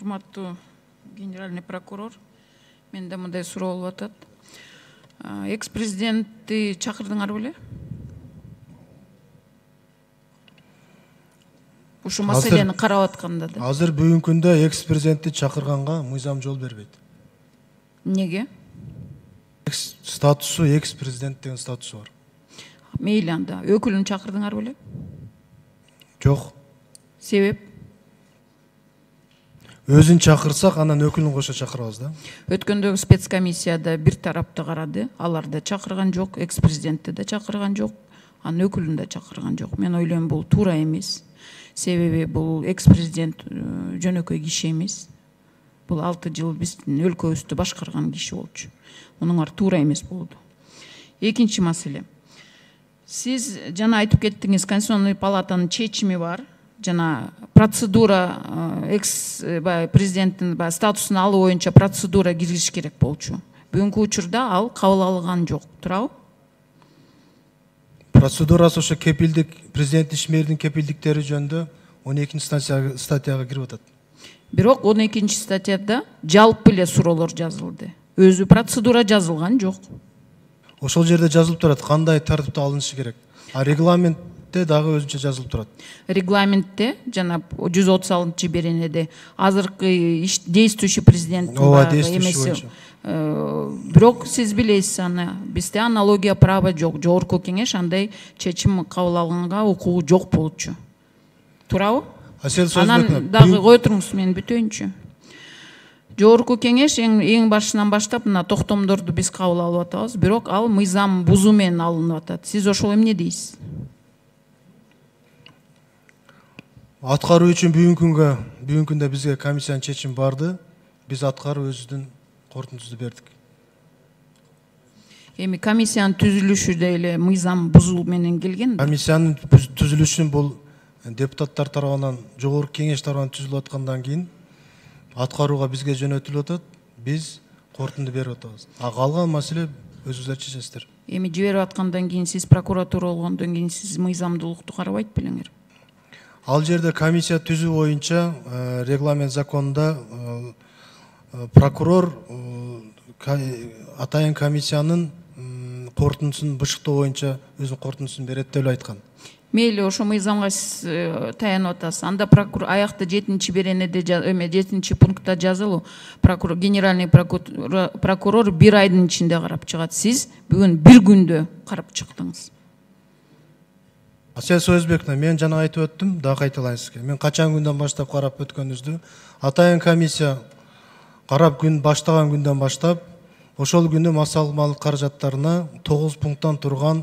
Урматтуу генеральный прокурор, менде мындай суроо болуп атат. Экс-президентти чакырдыңар беле? Ушу маселени карап атканда да. Азыр бүгүнкү күндө экс-президентти чакырганга мыйзам жол бербейт. Неге? Статусу экс-президент деген статусу бар. Мейли анда. Өкүлүн чакырдыңар беле? Жок. Себеп? Өзүн чакырсак, анан өкүлүн кошо чакырабыз да. Өткөндөгү спецкомиссияда бир тарапты карады. Алар да чакырган жок, экс-президентти да чакырган жок, анын өкүлүн да чакырган жок. Мен ойлойм бул туура эмес. Себеби бул экс-президент жөнөкөй киши эмес. Бул 6 жыл биздин өлкөбүздү башкарган киши болчу. Мунуңар туура эмес болду. Экинчи маселе. Сиз жана айтып кеттиңиз, Конституционный палатанын чечими бар. Жана процедура экс-президенттин статусун алуу боюнча процедура киргизиш керек болчу. Бүгүнкү учурда ал кабыл алынган жок. Туурабы? Процедурасы ошо кепилдик, президент ишмердин кепилдиктери жөнүндө 12 статьяга кирип атат. Бирок 12 статьяда жалпы эле суроолор жазылды. Өзү процедура жазылган жок. Ошол жерде жазылып турат кандай тартипте алынышы керек. А регламентте дагы өзүнчө жазылып турат. Регламентте жана 136 беренеде азыркы действующий президент эмеси. Бирок сиз билесиз аны, бизде аналогия права жок. Жогорку кеңеш андай чечим кабыл алганга укугу жок болчу. Туурабы? Анан дагы кой туруңуз, мен бүтөйүнчү. Жогорку кеңеш эң башынан баштап мына токтомдорду биз кабыл алып атабыз, бирок ал мыйзам бузуу менен алынып атат. Сиз ошол эмне дейсиз? Аткаруу үчүн бүгүнкү күндө бизге комиссиянын чечими барды. Биз аткарып өзүбүздүн корутундубузду бердик. Эми комиссиянын түзүлүшү деле мыйзам бузуу менен келген. Комиссиянын түзүлүшүн бул депутаттар тарабынан, жогорку кеңеш тарабынан түзүлүп аткандан кийин аткарууга бизге жөнөтүлүп атат. Биз корутунду берип атабыз. А калган маселе өзүңүздөр чечесиздер. Эми жиберип аткандан кийин сиз прокуратура болгондон кийин сиз мыйзамдуулукту карабайт белеңер? Ал жерде комиссия түзүү боюнча регламент законунда прокурор атайын комиссиянын корутундусун бышыктоо боюнча өзүнүн корутундусун берет деп айткан. Мейли, ошо мыйзамга сиз таянып атасыз. Анда прокурор аякта 7 беренеде 7 пунктта жазылуу. Генеральный прокурор 1 айдын ичинде карап чыгат. Сиз бүгүн 1 күндө карап чыктыңыз. Асел Сөзбековна, мен жана айтып өттүм, дагы кайталайын сизге. Мен качан күндөн баштап карап өткөнүбүздү, атайын комиссия карап күн баштаган күндөн баштап, ошол күнү массалык каражаттарына 9 пункттан турган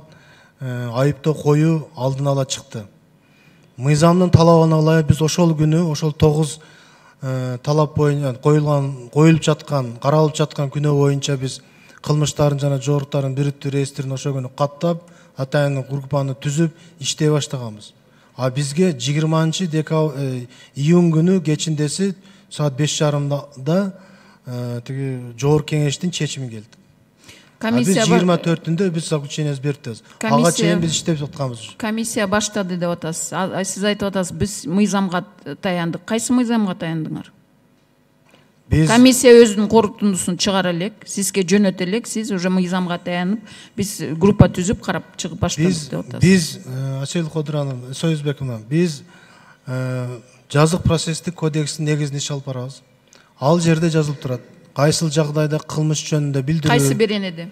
айыптоо коюу алдын ала чыкты. Мыйзамдын талабына ылайык биз ошол күнү, ошол 9 талап боюнча коюлуп жаткан, каралып жаткан күнөө боюнча биз кылмыштардын жана жоруктардын бириктүү реестрин ошол күнү каттап, атайын группаны түзүп иштей баштаганбыз. А бизге 20 июнь күнү кечиндеси саат 5:30 тиги жогорку кеңештин чечими келди. Комиссия 24-түндө биз заключениябызды бердик. Ага чейин биз иштеп атканбыз. Комиссия баштады деп атасыз. Сиз айтып атасыз, биз мыйзамга таяндык. Кайсы мыйзамга таяндыңар? Комиссия өзүнүн корутундусун чыгара элек, сизге жөнөтө элек, сиз уже мыйзамга таянып, биз группа түзүп карап чыгып баштадык деп атасыз. Биз Асел Кодуранова, Сөзбековна, биз жазык процесстик кодекстин негизинде иш алып барабыз. Ал жерде жазылып турат. Кайсыл жагдайда кылмыш жөнүндө билдирүү. Кайсы беренеде?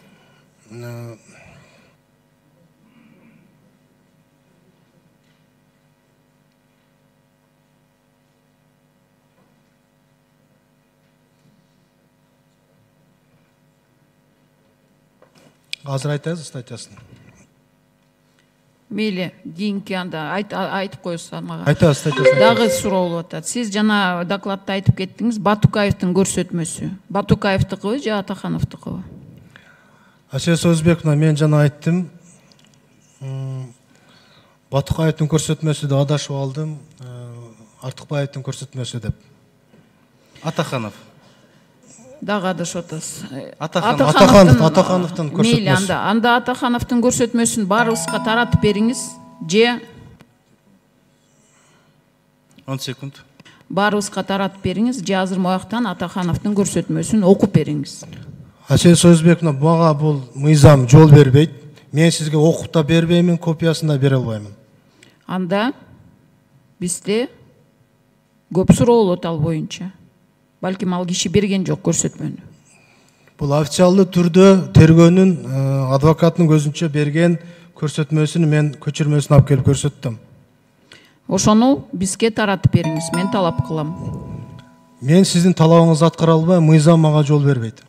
Азыр айтасыз статьясын. Мейли, кийинки анда айтып коесуз мага. Айтасыз статьясын. Дагы суроо болуп атат. Сиз жана докладта айтып кеттиңиз, Батукаевдин көрсөтмөсү. Батукаевдикыбы же Атахановдукубу? Асел Сөзбековна, мен жана айттым. Батукаевдин көрсөтмөсү деп адашып алдым. Артыкбаевдин көрсөтмөсү деп. Атаханов. Дагы адашып атасыз. Атахановдун көрсөтмөсү. Мейли, анда Атахановдун көрсөтмөсүн баарыбызга таратып бериңиз. Же 10 секунд. баарыбызга таратып бериңиз же азыр мояктан Атахановдун көрсөтмөсүн окуп бериңиз. Асель Союзбековна, мага бул мыйзам жол бербейт. Мен сизге окуп да бербеймин, копиясын да бере албаймын. Анда бизде көп суроо болот ал боюнча. Балким ал киши берген жок көрсөтмөнү. Бул официалдуу түрдө тергөөнүн адвокаттын көзүнчө берген көрсөтмөсүн мен көчүрмөсүн алып келип көрсөттүм. Ошону бизге таратып бериңиз, мен талап кылам. Мен сиздин талабыңызды аткара албайм, мыйзам мага жол бербейт.